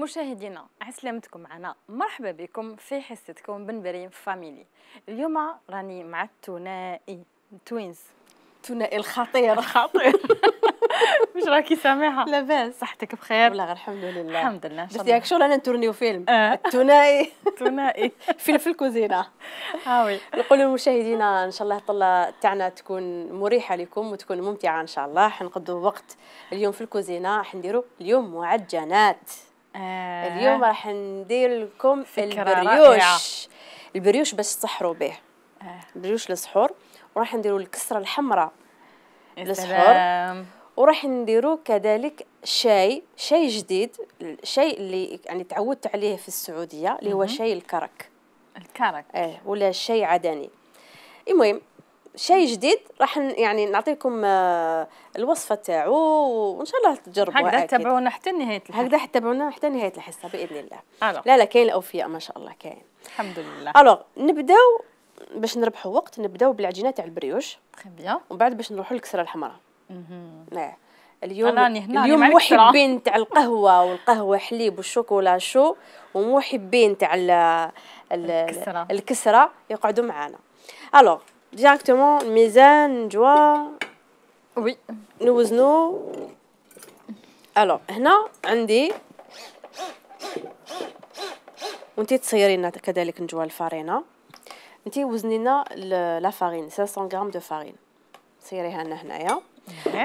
مشاهدينا عسلامتكم معنا، مرحبا بكم في حصتكم بن بريم فاميلي. اليوم راني مع الثنائي توينز، الثنائي الخطير واش راكي سامعه؟ لاباس صحتك بخير؟ والله الحمد لله الحمد لله. درت ياك شغل انا نتورنيو فيلم الثنائي الثنائي فيلم في الكوزينه. وي نقول للمشاهدين ان شاء الله الطله تاعنا تكون مريحه لكم وتكون ممتعه ان شاء الله. حنقضوا وقت اليوم في الكوزينه، راح نديروا اليوم معجنات. اليوم راح ندير لكم البريوش. البريوش باش تسحروا به، البريوش للسحور، وراح نديروا الكسره الحمراء للسحور، وراح نديروا كذلك شاي جديد، الشاي اللي يعني تعودت عليه في السعوديه اللي هو شاي الكرك. ولا الشاي عدني. المهم شاي جديد راح يعني نعطيكم الوصفه تاعو وان شاء الله تجربوها. هكذا تتابعونا حتى نهايه الحصه. هكذا تتابعونا حتى نهايه الحصه باذن الله. لا كاين الاوفياء ما شاء الله كاين الحمد لله. الوغ نبداو باش نربحوا وقت، نبداو بالعجينه تاع البريوش. تري بيان. ومن بعد باش نروحوا للكسره الحمراء. اليوم محبين تاع القهوه والقهوه حليب والشوكولا شو، ومحبين تاع الكسره يقعدوا معنا. الوغ ديريكتومون الميزان نجوا وي نوزنو. الوغ هنا عندي وانتي تصيرينا كذلك نجوا الفارينه. انتي وزني لنا لا فارين 500 غرام دو فارين، صيريها لنا هنايا.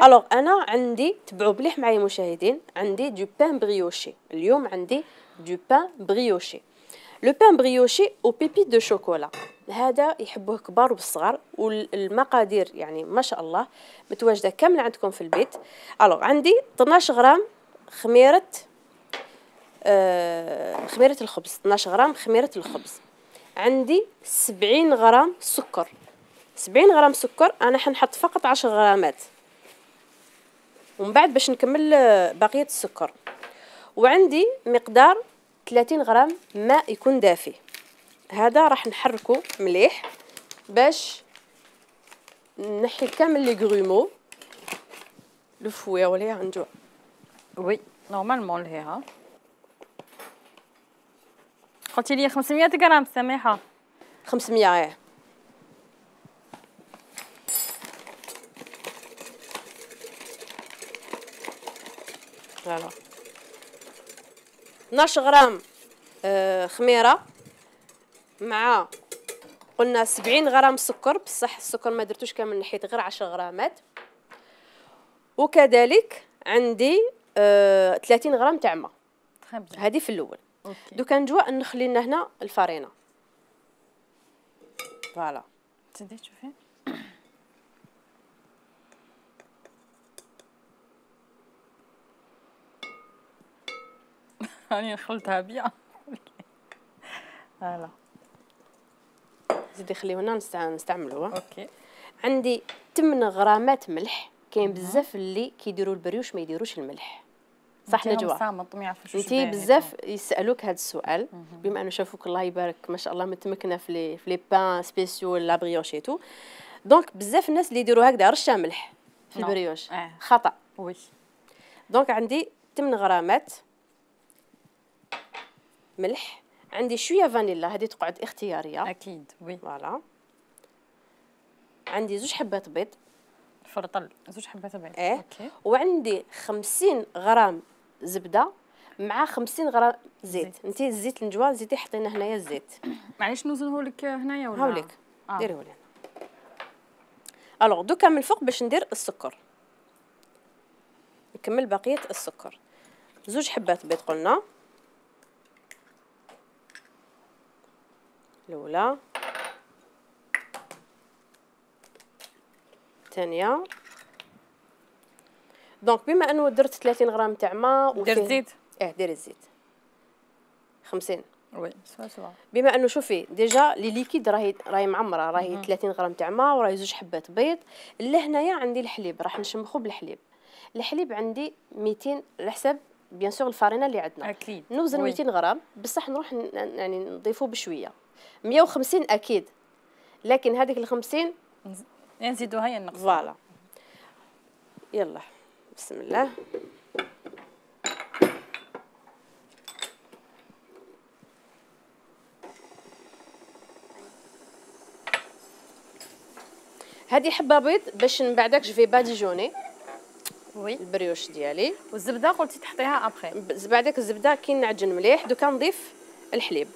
الوغ انا عندي، تبعوا بليح معايا مشاهدين، عندي دو بان بريوشي. اليوم عندي دو بان بريوشي. لو بان بريوشي او بيبي دو شوكولا، هذا يحبوه كبار والصغار، والمقادير يعني ما شاء الله متواجده كامله عندكم في البيت. الوغ عندي 12 غرام خميره الخبز، 12 غرام خميره الخبز. عندي 70 غرام سكر، 70 غرام سكر. انا حنحط فقط 10 غرامات ومن بعد باش نكمل بقيه السكر. وعندي مقدار 30 غرام ماء يكون دافي. هذا راح نحركه مليح باش نحي كامل لي غرومو لو فويا ولا نجوا. وي نورمالمون لهيها قلتي لي 500 غرام سماحه. 500 فوالا. 12 غرام خميره مع قلنا 70 غرام سكر، بصح السكر ما درتوش كامل، نحيت غير 10 غرامات. وكذلك عندي 30 غرام تاع ماء، هذه في الاول. دوكا نجوا نخلي لنا هنا الفارينه. فوالا تزيدي تشوفي راني خلطها بيان. فوالا زيدي خليه هنا نستعملوها. اوكي. عندي 8 غرامات ملح. كاين بزاف اللي كيديروا البريوش ما يديروش الملح، صح نجوى؟ انتي بزاف يسالوك هذا السؤال بما انه شافوك الله يبارك ما شاء الله متمكنه في لي بان سبيسيو لا بريوش ايتو. دونك بزاف الناس اللي يديروا هكذا رشه ملح في البريوش خطا. وي دونك عندي 8 غرامات ملح. عندي شويه فانيلا، هذه تقعد اختياريه اكيد. وي فوالا. عندي 2 حبات بيض، فرطل 2 حبات بيض. اوكي. وعندي 50 غرام زبده مع 50 غرام زيت. انتي الزيت النجوى زيدي حطينا هنايا الزيت. معليش نوزنه لك هنايا ولا هاوليك ديريه لي. الوغ دوكا من الفوق باش ندير السكر، نكمل بقيه السكر. 2 حبات بيض قلنا، الاولى الثانيه. دونك بما انه درت 30 غرام تاع ماء دير الزيت. ديري الزيت 50. وي سوا. بما انه شوفي ديجا لي ليكيد راهي معمره، راهي 30 غرام تاع ماء وراهي 2 حبات بيض. لهنايا عندي الحليب، راح نشمخو بالحليب. الحليب عندي 200 على حساب بيان سور الفارينه اللي عندنا. اكيد نوزن 200 غرام بصح نروح يعني نضيفوه بشويه. 150 اكيد، لكن هذيك ال 50 نزيدوها يا نقص. فوالا يلا بسم الله. هذه حبه بيض باش من بعدك جو في باديجوني وي البريوش ديالي. والزبده قلتي تحطيها ابخي. بعدك الزبده كي نعجن مليح دوكا نضيف الحليب.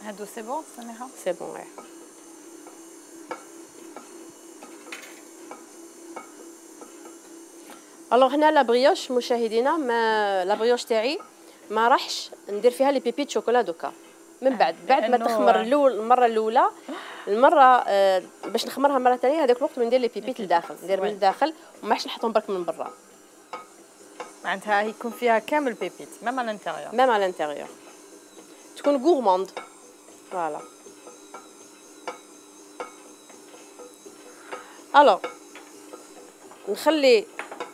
هادو سي بون سميحه. سي بون. الوغ هنا لا بريوش مشاهدينا، ما لا بريوش تاعي ما راحش ندير فيها لي بيبي شوكولا دوكا. من بعد ما تخمر المره الاولى، المره باش نخمرها مره ثانيه هذاك الوقت ندير لي بيبي لداخل، ندير من الداخل وما حش نحطهم برك من برا. معناتها يكون فيها كامل بيبيت ميم على الانتيريور. ميم على الانتيريور تكون غورماند. فوالا. الوغ نخلي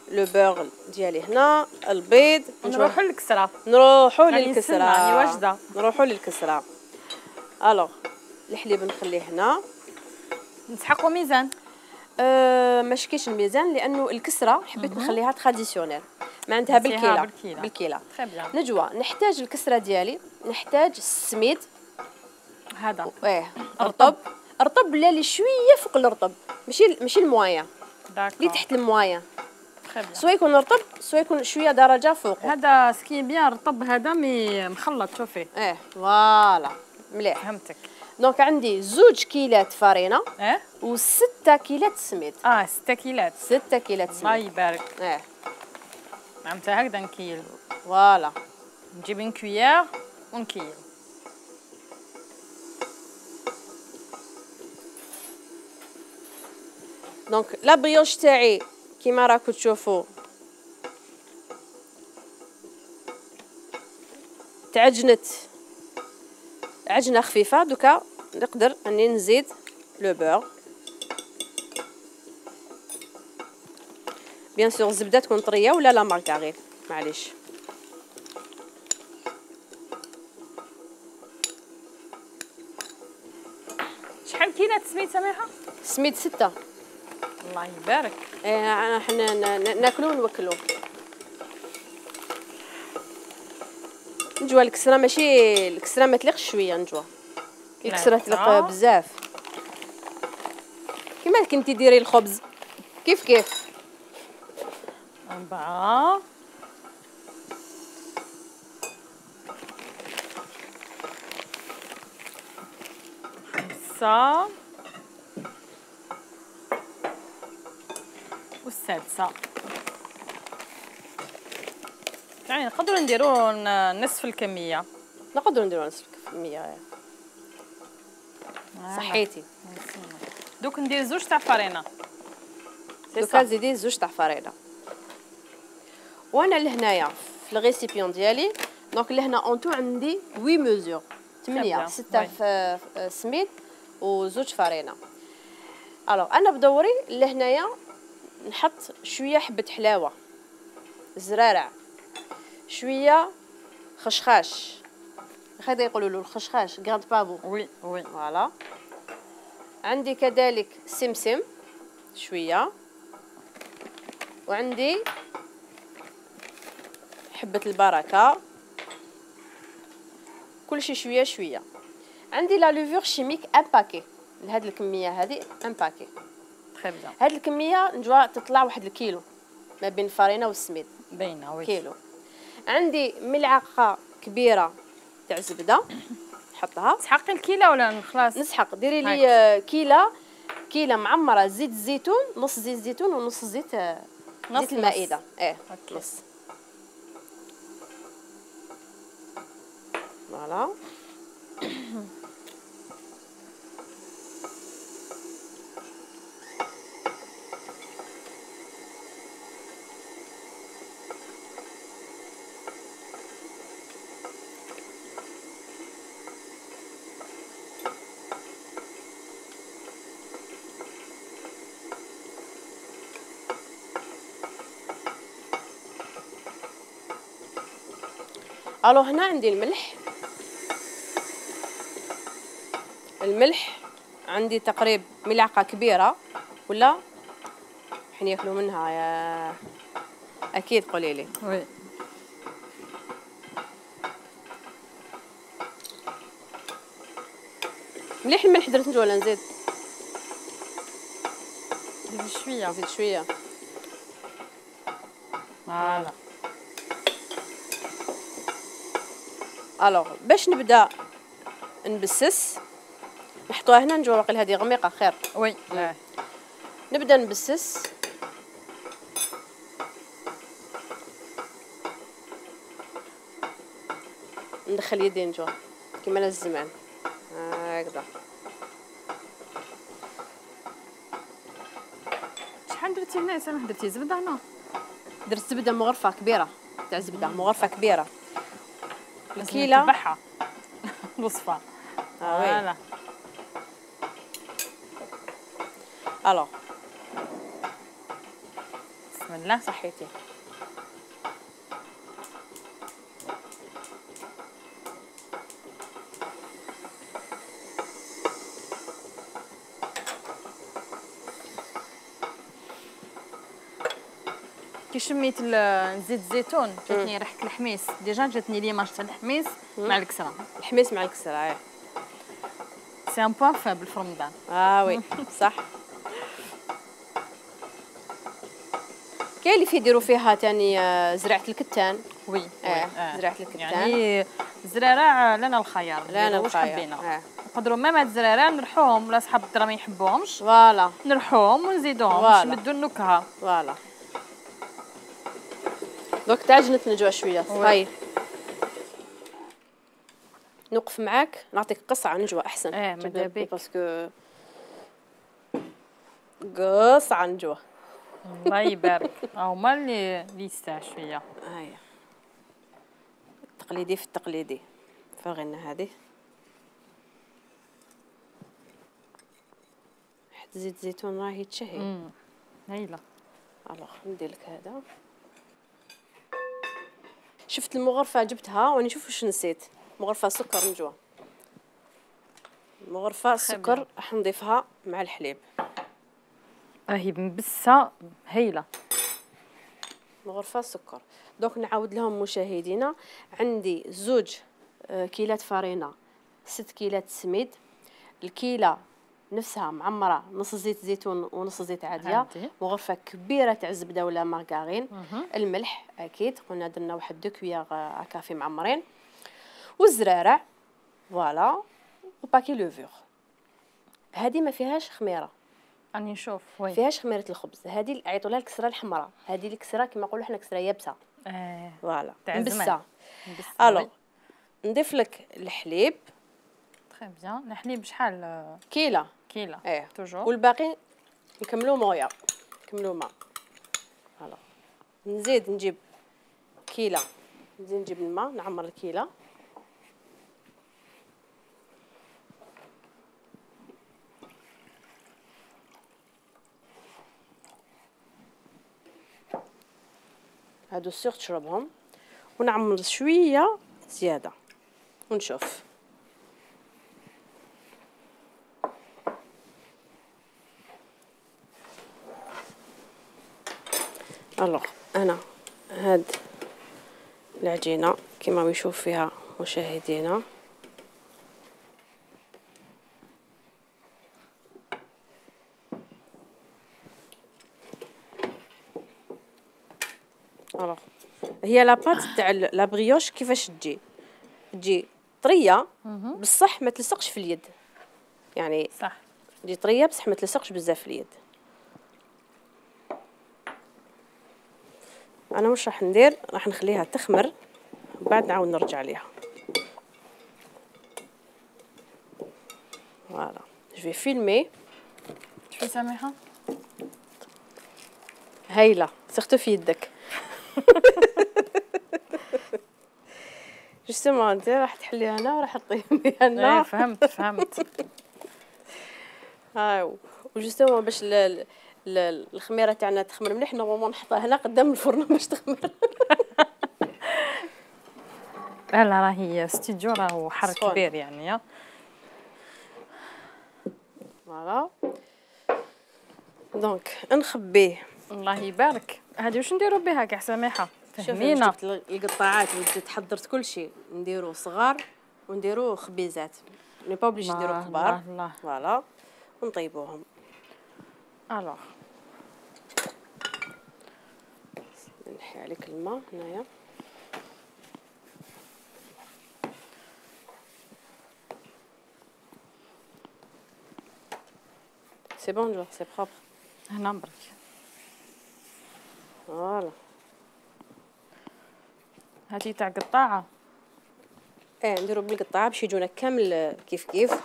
لو بور ديالي هنا، البيض نروحوا للكسره. نروحوا للكسره. راني واجده. نروحوا للكسره. الوغ الحليب نخليه هنا. نسحقوا ميزان. ماشي كاينش الميزان لانه الكسره حبيت نخليها تراديسيونيل معناتها بالكيله. تري بيان. نجوى نحتاج الكسره ديالي، نحتاج السميد هذا رطب اللي شويه فوق الرطب، ماشي الموايا اللي تحت الموايا. سواء يكون رطب سواء يكون شويه درجه فوق. هذا سكي بيان رطب هذا مي مخلط شوفي. فوالا مليح. فهمتك. دونك عندي 2 كيلات فرينه و6 كيلات سميد. 6 كيلات. 6 كيلات سميد. الله يبارك. معناتها هكذا نكيل. فوالا. نجيب ان كويير ونكيل. دونك لا بريوش تاعي كيما راكم تشوفوا تعجنت عجنه خفيفه. دوكا نقدر اني نزيد لو بور. بيان سور الزبده تكون طريه ولا لا مارغريت معليش. شحال كيلات سميد سميحه؟ سميد 6. الله يبارك. حنا ناكلو ونوكلو. نجوى الكسره ماشي الكسره ما تليقش شويه. نجوى الكسره تليق بزاف. كيما كنتي ديري الخبز كيف 4 5 والسادسة. يعني نقدروا نديروا نصف الكمية. نقدروا نديروا نصف الكمية. صحيتي. دوك ندير 2 تاع فرينة. دوكا زيدي 2 تاع فرينة. وانا لهنايا في الريسيبيون ديالي دونك لهنا اونتو عندي 8 ميزور 8 6 في سميد و2 فرينة. الوغ انا بدوري لهنايا نحط شويه حبه حلاوه زرارع، شويه خشخاش، هذا يقولوا له الخشخاش غاد بافو. وي فوالا. عندي كذلك سمسم شويه، وعندي حبه البركه، كلشي شويه شويه. عندي لا لوفور شيميك ان باكي لهاد الكميه هذه، ان باكي تري بيان. هاد الكميه نجوا تطلع 1 الكيلو ما بين الفرينه والسميد. باينه وي. كيلو. عندي ملعقه كبيره تاع زبده نحطها. تسحقي الكيله ولا خلاص؟ نسحق. ديري لي كيله معمره زيت الزيتون، نص زيت الزيتون ونص زيت المائده. نص. فوالا. الو هنا عندي الملح عندي تقريبا ملعقه كبيره، ولا حين ياكلوا منها يا اكيد قولي لي. وي مليح الملح درت انت ولا نزيد؟ زيد شويه. نزيد شويه. فوالا. الوغ باش نبدا نبسس، نحطوها هنا نجوا واقيلا هذه غميقه خير. وي نبدا نبسس. ندخل يدي نجوا كيما انا الزمان هكذا. شحال درتي هنا؟ سامح درتي زبده هنا؟ درت زبده مغرفه كبيره تاع زبده مغرفه كبيره. الكيله تبعها وصفه. فوالا. الو بسم الله. صحيتي. كي شميت زيت الزيتون جاتني ريحه الحميص، ديجا جاتني ليماج تاع الحميص مع الكسره. الحميص مع الكسره سي ان بوان فابل في رمضان. وي صح. كاين اللي يديروا فيها تاني زرعه الكتان. وي زرعه الكتان يعني الزرارع لنا الخيار، لنا واش الخيار. حبينا نقدروا ميم هاد الزرارع نرحوهم ولا صحاب الدرا ما يحبوهمش، فوالا نرحوهم ونزيدوهم باش نمدوا النكهه. فوالا. دوك تعجنت نجوع شويه. هاي نوقف معاك نعطيك قصعه نجوى احسن. ماذا بك باسكو قصعه نجوى. الله يبارك. هما اللي يستاهل شويه. هاي التقليدي في التقليدي. فغينا هذه حتى زيت زيتون راهي تشهي. هايله. الوغ ندير لك هذا. شفت المغرفه جبتها واني نشوف واش نسيت. مغرفه سكر نجوى. مغرفه سكر راح نضيفها مع الحليب. راهي مبسه هايله. مغرفه سكر. دوك نعاود لهم مشاهدينا، عندي 2 كيلات فرينه، 6 كيلات سميد، الكيله نفسها معمره نص زيت زيتون ونص زيت عاديه، مغرفه كبيره تاع الزبده ولا مارغرين، الملح اكيد قلنا درنا واحد 2 كويار كافي معمرين، والزرارع فوالا، وباكي لوفور. هذه ما فيهاش خميره، راني نشوف. وي فيهاش خميره الخبز، هذه عيطوا لها الكسره الحمراء، هذه الكسره كما نقولوا حنا كسره يابسه. فوالا مبسه. الو نضيف لك الحليب. تري بيان. الحليب شحال؟ كيله. كيله توجور. والباقي نكملوا مويه، نكملوا ماء. فوالا نزيد نجيب كيله، نزيد نجيب الماء نعمر الكيله. هادو السيغ تشربهم، ونعمر شويه زياده ونشوف. الوغ انا هاد العجينه كما يشوف فيها مشاهدينا الوغ هي لاباط تاع لا بريوش كيفاش تجي طريه بصح ما تلصقش في اليد، يعني صح تجي طريه بصح ما تلصقش بزاف في اليد. انا واش راح ندير، راح نخليها تخمر بعد نعاود نرجع ليها. فوالا جو في فيلمي. شوفي سامحه هايله سيرتو في يدك. جوستومون انت راح تحليها هنا وراح تطيبيها هنا. فهمت. هاي وجوستومون باش الخميره تاعنا تخمر مليح، نورمالمون نحطها هنا قدام الفرن باش تخمر. لا لا راهي ستوديو راهو حر سخون. كبير يعني. فوالا دونك نخبيه. الله يبارك. هادي واش نديرو بها كاع سميحه؟ شوفي فهمينا. جبت القطاعات وجيت حضرت كل شيء، نديرو صغار ونديرو خبيزات، ني با اوبليجي نديرو الله كبار. الله. فوالا ونطيبوهم. الوغ نحي عليك الماء هنايا. سي بون جو سي بروبر. هنا برك. فوالا هاتي تاع قطاعه. نديرو بالقطاعه باش يجونا كامل كيف كيف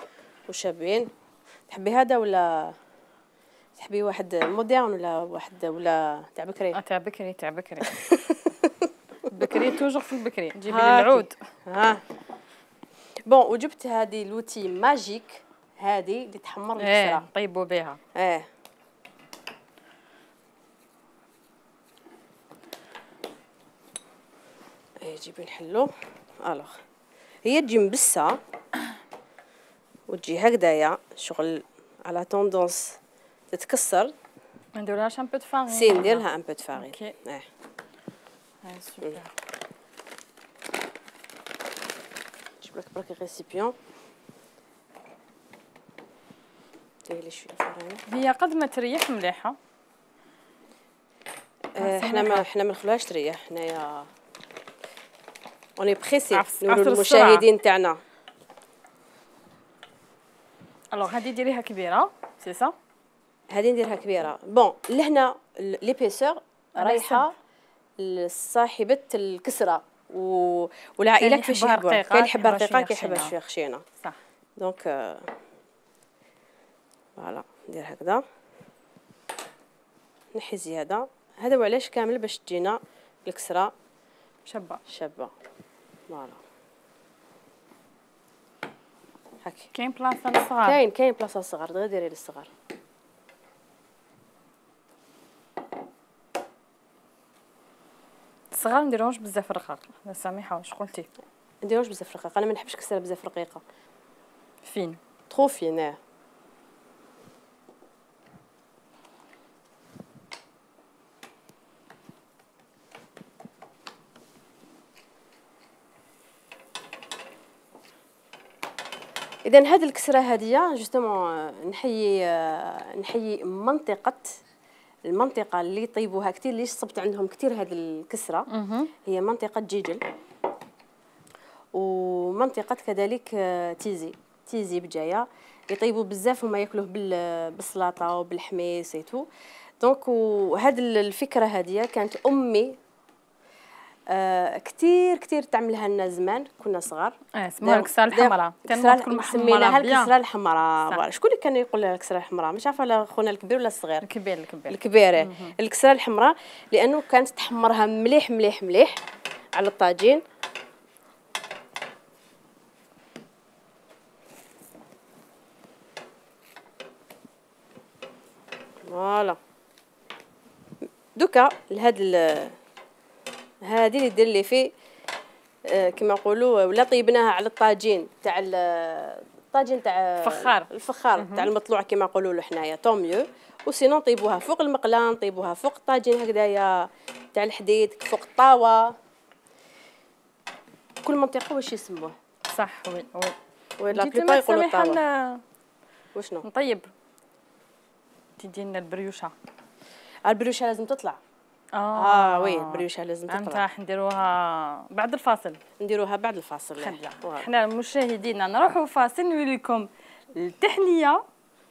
وشابين. تحبي هذا ولا تحبي واحد موديرن ولا واحد ولا تاع بكري؟ تاع بكري تاع بكري. بكري توجور في البكري. جيبي لي هاكي. العود. ها بون وجبت هذه لوتي ماجيك، هذه اللي تحمر الكسره. طيبوا بها. جيبي نحلو. الوغ هي تجي مبسه وتجي هكذايا شغل على توندونس تتكسر. ندير لها ان بو دو فارين. سي ندير لها ان بو دو فارين. اوكي. هاي سوبر. نجيب لك برك ريسيبيون ديري لي شويه فرينه. هي قد ما تريح مليحه. حنا ما نخلوهاش تريح هنايا. اوني بريسي عصر نقولوا السرعة. للمشاهدين تاعنا. الوغ هادي ديريها كبيره سي سا. هذه نديرها كبيره. بون لهنا ليبيسور رايحه لصاحبه الكسره والعائلات كيفاش يحبوها. كاين يحبها رقيقه كاين يحبها شويه خشينه. صح. دونك فوالا ندير هكذا نحي زياده. هذا وعلاش كامل باش تجينا الكسره شابه. فوالا هاكي. كاين بلاصه للصغار. كاين بلاصه للصغار، دغيا ديري للصغار. الصغار نديروهمش بزاف رقاق. لا سامحه واش قلتي؟ نديروش بزاف رقيقه، انا ما نحبش كسره بزاف رقيقه. فين؟ ترو فين. اذا هذه الكسره هذه جوستومون نحيي المنطقه اللي يطيبوها كثير، اللي صبت عندهم كثير هذه الكسره. هي منطقه جيجل ومنطقه كذلك تيزي بجايه يطيبوا بزاف وما ياكلوه بالسلطه وبالحميص ايتو. دونك وهذه الفكره هذه كانت امي كثير تعملها لنا زمان كنا صغار. اسمها الكسره الحمراء. كان سميناها الكسره الحمراء. شكون اللي كان يقول لها الكسره الحمراء؟ مش عارفه لا خونا الكبير ولا الصغير. الكبير. الكسره الحمراء لانه كانت تحمرها مليح على الطاجين. فوالا دوكا هذه اللي دير لي فيه كما نقولوا ولا طيبناها على الطاجين تاع الطاجين تاع الفخار تاع المطلوع كما نقولوا له حنايا طون ميو. وسينو نطيبوها فوق المقله، نطيبوها فوق الطاجين هكذايا تاع الحديد، فوق الطاوه. كل منطقه واش يسموه. صح. وي لا بليبار يقولوا الطاوه. وشنو نطيب؟ تدي لنا البريوشه. البريوشه لازم تطلع. وي البريوشه لازم تطلع. انت نديروها بعد الفاصل. نديروها بعد الفاصل. حنا مشاهدينا نروحوا فاصل نوري لكم التحليه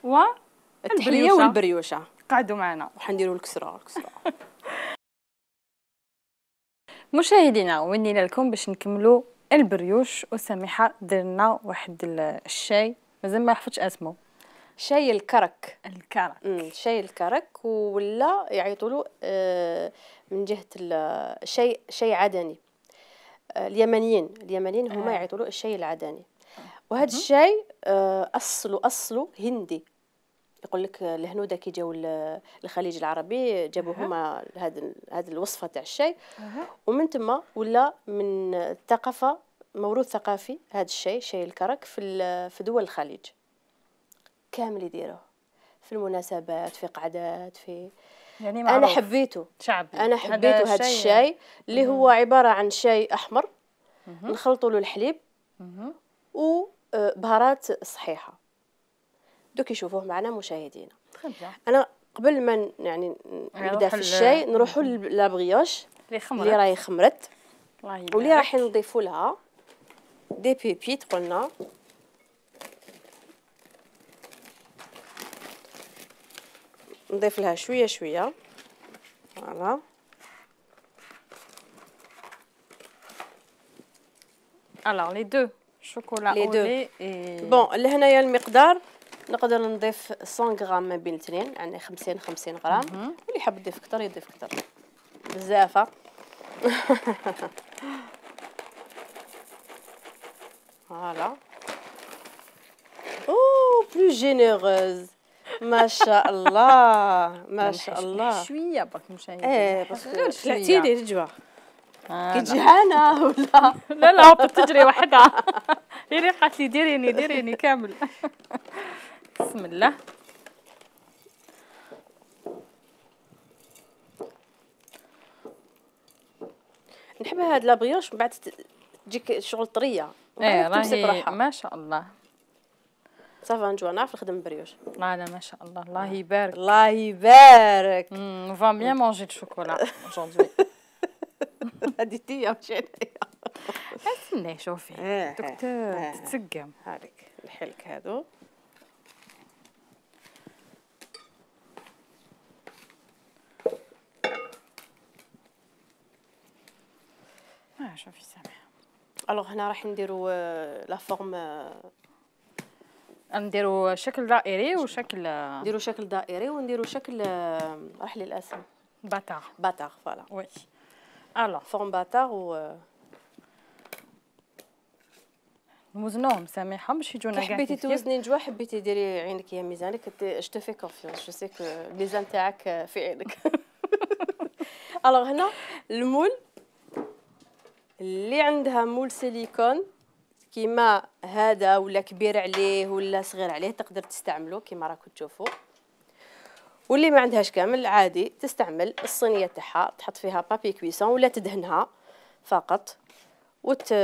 والبريوشه. قعدوا معنا وحنديروا الكسره. مشاهدينا ونينا لكم باش نكملوا البريوش. وسامحه درنا واحد الشاي مازال ما حفظتش اسمه. شاي الكرك. شاي الكرك ولا يعيطوا له من جهه شاي عدني. اليمنيين هما يعيطوا له الشاي العدني. وهذا الشاي اصله هندي. يقول لك الهنوده كي جاوا الخليج العربي جابوا هما هذه الوصفه تاع الشاي. ومن تما ولا من الثقافه موروث ثقافي هذا الشاي، شاي الكرك في دول الخليج كامل يديروه في المناسبات، في قعدات، في يعني انا معروف حبيته. شعبي. انا حبيته هذا الشاي اللي هو عباره عن شاي احمر نخلطوا له الحليب وبهارات صحيحه. دوك يشوفوه معنا مشاهدينا. انا قبل ما يعني نبدا في الشاي نروحوا لابغيوش اللي راهي خمرت واللي راح نضيفوا لها دي بيبيت. قلنا نضيف لها شويه شويه. فوالا الوغ لي دو شوكولا لي اولي بون لهنايا المقدار نقدر نضيف 100 غرام ما بين الاثنين، يعني 50 غرام. واللي حاب يضيف اكثر يضيف اكثر بزاف. فوالا او بلو جينيروز ما شاء الله ما شاء الله. شويه برك مشاهدين. باسكو طلعتيلي الجوع كي جهانه ولا لا هبطت تجري وحدها. هي قالت لي ديريني كامل. بسم الله. نحب هاد لابريوش من بعد تجيك شغل طريه. راهي ما شاء الله. صافا نجوع نعرف نخدم بريوش. لا ما شاء الله الله يبارك. الله يبارك. فا بيان مونجي دو شوكولا اجوردي. هادي تيا ماشي انايا. استني شوفي دكتور تتسقم. هاذيك نحلك هادو. شوفي سامحه. الوغ هنا راح نديرو لا فورم. نديرو شكل دائري وشكل نديرو شكل دائري ونديرو شكل راح لي الاسم باتار فوالا. وي الوغ فورم باتار و نوزنوهم سامحه باش يجونا كاع. حبيتي توزني نجوى، حبيتي ديري عينك يا ميزانك. جو تو في كونفيونس، جو سي كو ميزان تاعك في عينك. الوغ هنا المول اللي عندها مول سيليكون كيما هذا ولا كبير عليه ولا صغير عليه تقدر تستعمله كيما راكم تشوفوا. واللي ما عندهاش كامل عادي تستعمل الصينيه تاعها، تحط فيها بابي كويسون ولا تدهنها فقط وتحط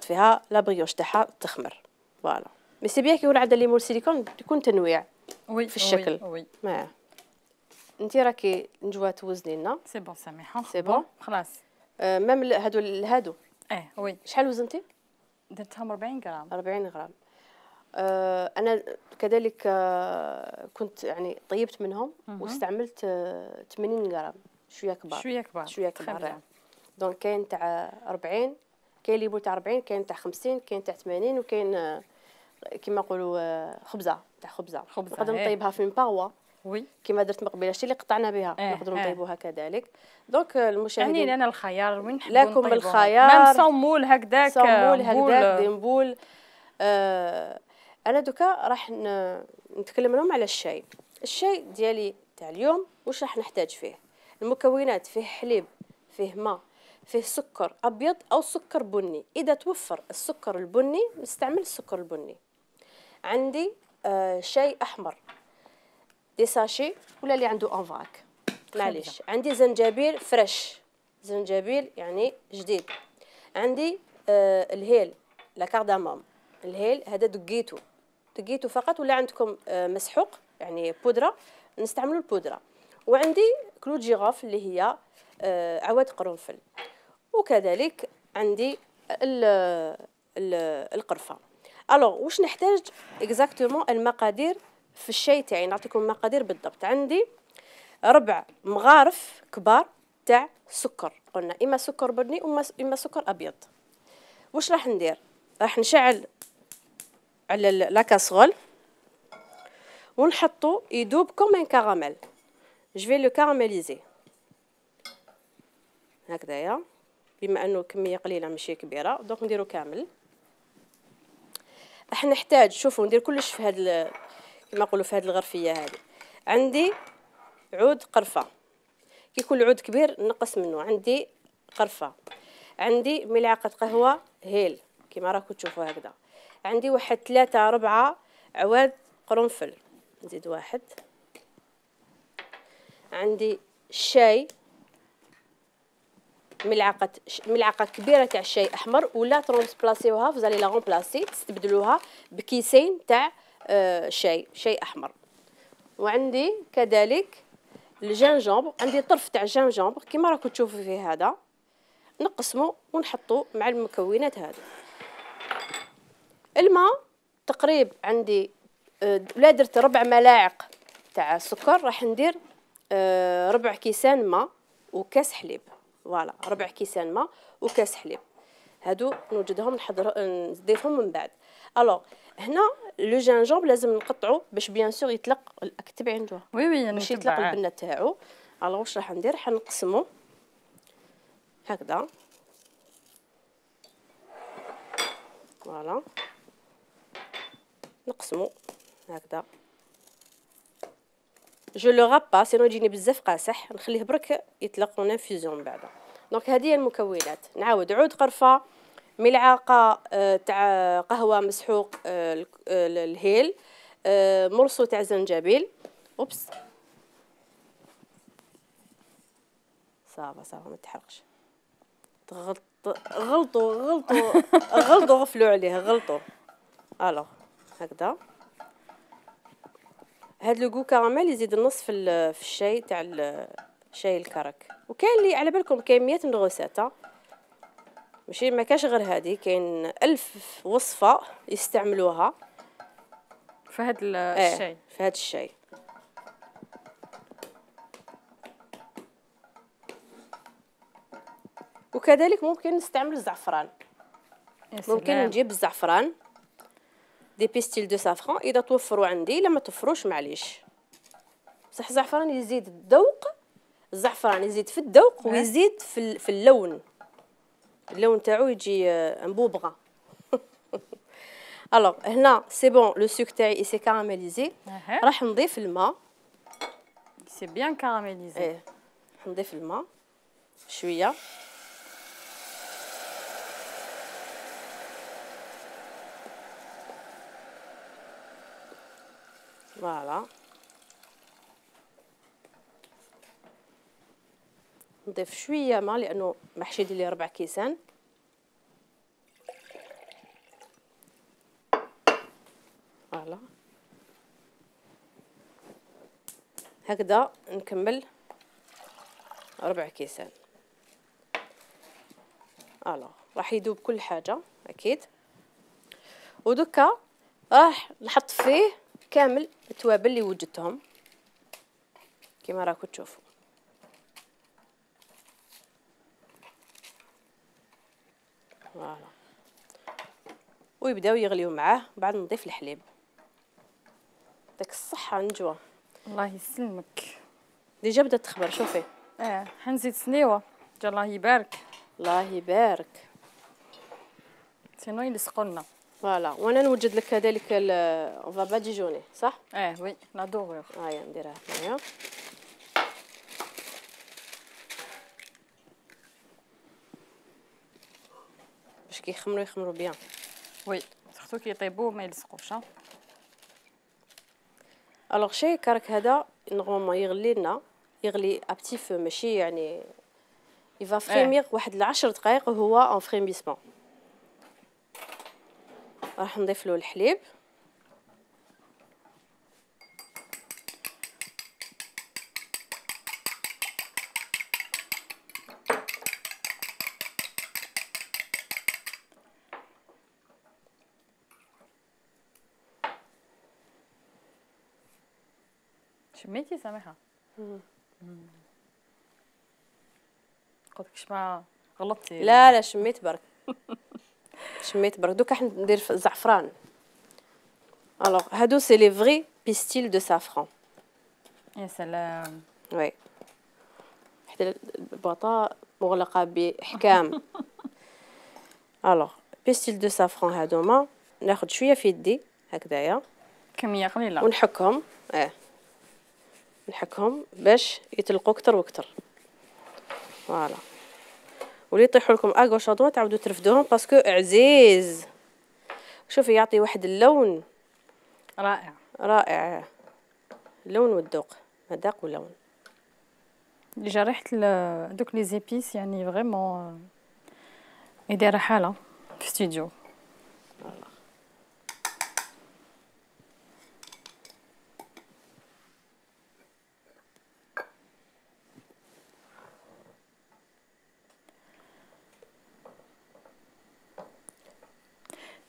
فيها لابريوش تاعها تخمر. فوالا مي سي بيان كي يكون عندها لي مول سيليكون يكون تنويع في الشكل. ما انت راكي نجوى توزني لنا. سي بون سامحه سي بون خلاص. ميم هادو وي. شحال وزنتي؟ درتهم 40 غرام. 40 غرام. انا كذلك كنت يعني طيبت منهم واستعملت 80 غرام شويه كبار. دونك كاين تاع 40، كاين اللي يبول تاع 40، كاين تاع 50، كاين تاع 80، وكاين كيما نقولوا خبزه نقدر نطيبها في مباغوا. وي كيما درت مقبله شتي اللي قطعنا بها نقدروا نطيبوها كذلك. دونك المشاهدين يعني انا الخيار وين نحبوا لكم الخيار ميم صومول هكذاك دي مبول. انا دوكا راح نتكلم لهم على الشاي ديالي تاع اليوم. واش راح نحتاج فيه؟ المكونات: فيه حليب، فيه ماء، فيه سكر ابيض او سكر بني. اذا توفر السكر البني نستعمل السكر البني. عندي شاي احمر دي ساشي ولا اللي عنده انفاك معليش. عندي زنجبيل فريش، زنجبيل يعني جديد. عندي الهيل لا كارداموم، الهيل هذا دقيتو فقط، ولا عندكم مسحوق يعني بودره نستعملوا البودره. وعندي كلو جيراف اللي هي عواد قرنفل. وكذلك عندي القرفه. الوغ واش نحتاج اكزاكتومون المقادير في الشاي تاعي؟ نعطيكم المقادير بالضبط. عندي 4 مغارف كبار تاع سكر، قلنا اما سكر بني اما سكر ابيض. واش راح ندير؟ راح نشعل على لا كاسرول ونحطو يذوب كوم ان كراميل. جو في لو كاراميليزي هكذايا، بما انه كميه قليله ماشي كبيره دونك نديرو كامل. راح نحتاج شوفوا ندير كلش في هاد كما نقولوا في هاد الغرفيه هذه. عندي عود قرفه، كي يكون العود كبير نقص منه. عندي قرفه، عندي ملعقه قهوه هيل كيما راكم تشوفوا هكذا. عندي واحد 3 4 عواد قرنفل، نزيد واحد. عندي الشاي، ملعقه كبيره تاع الشاي احمر، ولا ترونسبلاسيوها فزالي لا رومبلاسي تستبدلوها بكيسين تاع شاي احمر. وعندي كذلك الجنجمبر، عندي طرف تاع الجنجمبر كيما راكم تشوفوا فيه هذا، نقسمه ونحطه مع المكونات هذه. الماء تقريب عندي لا درت 4 ملاعق تاع السكر، راح ندير 4 كيسان ماء وكاس حليب. فوالا 4 كيسان ماء وكاس حليب، هادو نوجدهم نضيفهم من بعد. الوغ هنا لو جانجومب لازم نقطعو باش بيان سور يطلق، اكتبي عنده وي باش يطلق البنه تاعو. الوغ واش راح ندير، راح نقسمو هكذا. فوالا نقسمو هكذا. جو لو غاب با سينو يجيني بزاف قاصح، نخليه برك يطلق ونفيزيون من بعد. دونك هذه هي المكونات. نعاود عود قرفه، ملعقه تاع قهوه مسحوق الهيل، مرصو تاع زنجبيل. اوبس صافا ما تحرقش. غلطوا غفلوا عليه، غلطوا. الوغ هكذا. هاد لو كراميل يزيد النص في الشاي تاع شاي الكرك. وكاين اللي على بالكم كاين 100 نغوسات، ماشي ما كاش غير هذه، كاين 1000 وصفه يستعملوها في هذا الشاي. في هذا الشاي. وكذلك ممكن نستعمل الزعفران، ممكن نجيب الزعفران دي بيستيل دو سافران اذا توفروا عندي، لما توفروش معليش. بصح الزعفران يزيد الذوق، الزعفران يزيد في الذوق ويزيد في اللون تاعو يجي مبوبغا. الوغ هنا سي بون لو سوك تاعي سي كاراميليزي. راح نضيف الماء. سي بيان كاراميليزي. نضيف الماء شويه. فوالا نضيف شويه ماء لانه محشي يدير لي 4 كيسان. فوالا هكذا نكمل 4 كيسان. راح يذوب كل حاجه اكيد. ودكا راح نحط فيه كامل التوابل اللي وجدتهم كما راكم تشوفوا. فوالا ويبداو يغليو معاه. بعد نضيف الحليب. داك الصحه نجوى. الله يسلمك. ديجا بدات تخبر شوفي. حنزيد سنيوه. الله يبارك. الله يبارك. سينو يلصقوا لنا. فوالا وانا نوجد لك كذلك اون فا با ديجوني صح؟ وي لا دوغور. هيا نديرها هنايا. باش يخمروا بيان. وي سورتو كي يطيبوا ما يلصقوش. الوغ شاي كرك هذا نورمالمون يغلي لنا، يغلي ا بتي فو، ماشي يعني يفا فريمير واحد 10 دقائق وهو اون فريميسمون. راح نضيف له الحليب. شميتي سامحه؟ قلت ما غلطتي. لا شميت برك. شميت برك. دوكا ندير الزعفران. الوغ هادو سي لي فري بيستيل دو سافران. يا سلام. وي حتى البواطه مغلقه باحكام. الوغ بيستيل دو سافران هادوما ناخذ شويه في يدي هكذايا، كميه قليله، ونحكهم. نحكهم باش يطلقوا اكثر واكثر. فوالا واللي يطيحوا لكم اغوش ادوا تعاودوا ترفدوهم باسكو عزيز. شوفي يعطي واحد اللون رائع رائع، اللون والذوق، مذاق ولون. ديجا ريحه دوك لي زيبيس يعني فريمون يدير حاله في استوديو.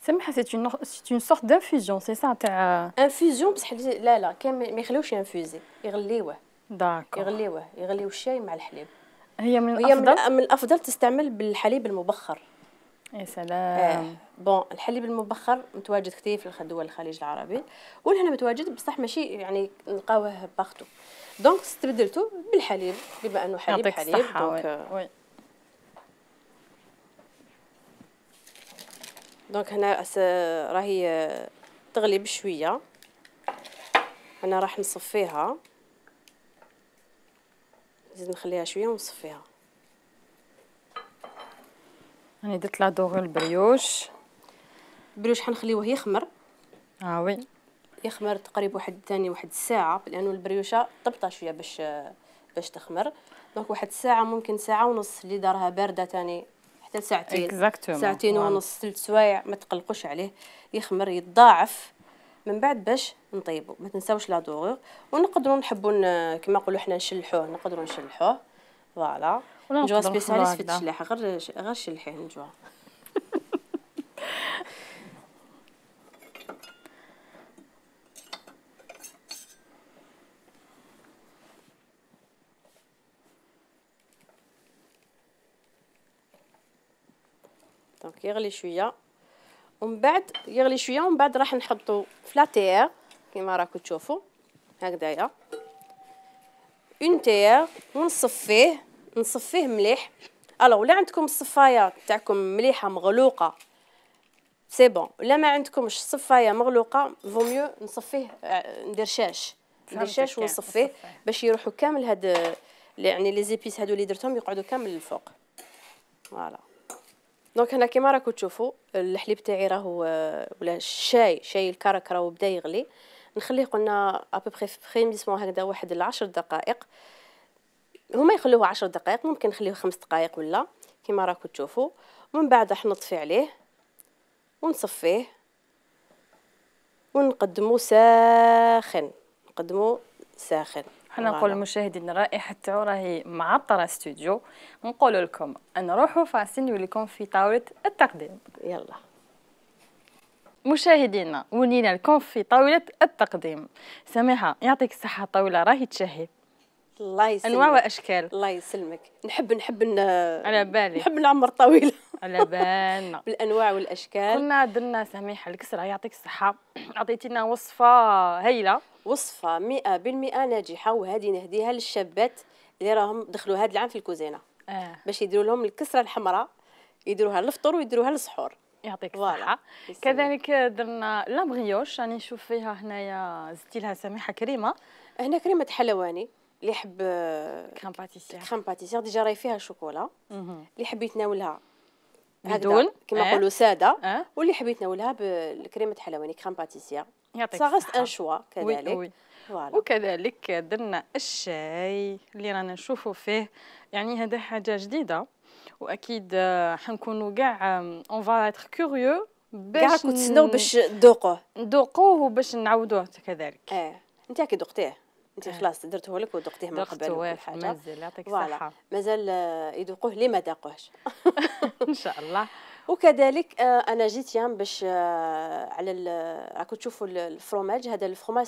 سمحة c'est une sorte d'infusion c'est ça تاع انفيزيون بصح لا كان ما يخليوش ينفوزي، يغليوه. داكور يغليو الشاي مع الحليب. هي من الافضل من الافضل تستعمل بالحليب المبخر. يا سلام. بون الحليب المبخر متواجد كثير في دول الخليج العربي، ولهنا متواجد بصح ماشي يعني نلقاوه باغتو. دونك استبدلته بالحليب بما انه حليب دونك دونك هنا راهي تغلي بشويه. انا راح نصفيها، نزيد نخليها شويه ونصفيها. راني درت لا دوغ البريوش حنخليوه يخمر. وي يخمر تقريبا واحد الساعه، لانه البريوشه طبطه شويه باش تخمر. دونك واحد الساعه، ممكن ساعه ونص اللي دارها بارده تاني حتى ساعتين ونص 3 سوايع. ما تقلقوش عليه، يخمر يتضاعف من بعد باش نطيبوا. ما تنساوش لا دوغ. ونقدروا نحبوا كما نقولوا حنا نشلحوه فوالا. نجوا سبيسياليست في التشلاح، غير شلحيه نجوا. دونك يغلي شويه ومن بعد راح نحطو فلاتير كيما راكم تشوفوا هكذايا اون تيير، ونصفيه مليح. الو ولا عندكم الصفايه تاعكم مليحه مغلوقه سي بون، ولا ما عندكمش الصفايه مغلوقه فو ميو نصفيه، ندير شاش ونصفيه باش يروحوا كامل هاد يعني لي زيبيس هادو اللي درتهم يقعدوا كامل للفوق. فوالا. دونك هنا كيما راكم تشوفوا الحليب تاعي راهو ولا الشاي الكرك راهو بدا يغلي. نخليه قلنا ابوبري فريميسمون هكذا واحد 10 دقائق. هما يخلوه 10 دقائق، ممكن نخليه 5 دقائق ولا كيما راكم تشوفوا. ومن بعد راح نطفي عليه ونصفيه ونقدموه ساخن. حنا نقول للمشاهدين الرائحه تاعو راهي معطره استوديو. نقول لكم نروحوا فاصل نوليكم في طاوله التقديم. يلا مشاهدينا ولينا لكم في طاوله التقديم. سميحه يعطيك الصحه، الطاوله راهي تشهي. الله يسلمك. انواع واشكال. الله يسلمك. نحب على بالي نحب نعمر طويله. على بالنا بالانواع والاشكال. كنا درنا سميحه الكسره يعطيك الصحه، عطيتينا وصفه هايله، وصفه 100% ناجحه، وهذه نهديها للشابات اللي راهم دخلوا هذا العام في الكوزينه باش يديروا لهم الكسره الحمراء، يديروها للفطور ويديروها للسحور. يعطيك الصحه. كذلك درنا لا بريوش، راني نشوف فيها هنايا زدتي لها سميحه كريمه. هنا كريمه حلواني اللي يحب كريم باتيسير ديجا راهي فيها شوكولا. اللي يحب يتناولها بدون كما نقولوا ساده، واللي يحب يتناولها بالكريمه حلواني كريم باتيسير. يعطيك الصحه. ان شوا كذلك. وي. وكذلك درنا الشاي اللي رانا نشوفوا فيه، يعني هذا حاجه جديده، واكيد حنكونوا كاع اون فا اتر كوريو باش تسناو باش ندوقوه وباش نعاودوه كذلك. انت كي دقتيه انت خلاص درته لك ودقتيه من قبل وكل حاجه. مازال يعطيك الصحه. مازال يذوقوه اللي ما ذاقوهش. ان شاء الله. وكذلك انا جيت يام باش على راكم تشوفوا الفروماج. هذا الفروماج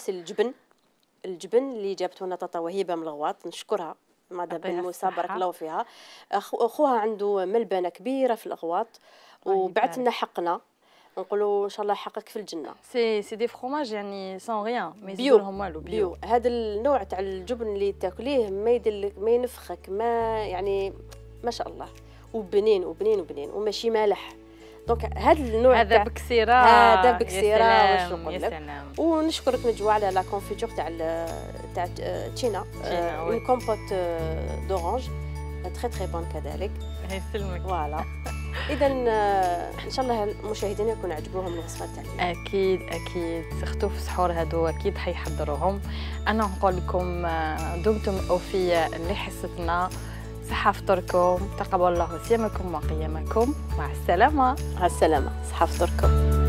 الجبن اللي جابته لنا طاطا وهيبه من الغواط، نشكرها مدام بن موسى بارك الله فيها. اخوها عنده ملبنه كبيره في الغواط وبعث لنا حقنا، نقولوا ان شاء الله يحقق في الجنه. سي دي فروماج يعني سون ريان، ما يزيدولهم والو، بيو. هذا النوع تاع الجبن اللي تاكليه ما يدلك ما ينفخك، ما يعني ما شاء الله، وبنين وماشي مالح. دونك هذا النوع هذا بكسيره واش نقول لك. ونشكرك نجوا على لا كونفيتور تاع تشينا، اون كومبوت دورانج تري تري بون كذلك. يسلمك. فوالا. اذا ان شاء الله المشاهدين يكون عجبوهم الوصفات تاعي. اكيد اكيد سختو في السحور هادو اكيد حيحضروهم. انا نقول لكم دمتم اوفياء لحصتنا. صحة فطوركم، تقبل الله صيامكم وقيامكم. مع السلامة. مع السلامة. صحة فطوركم.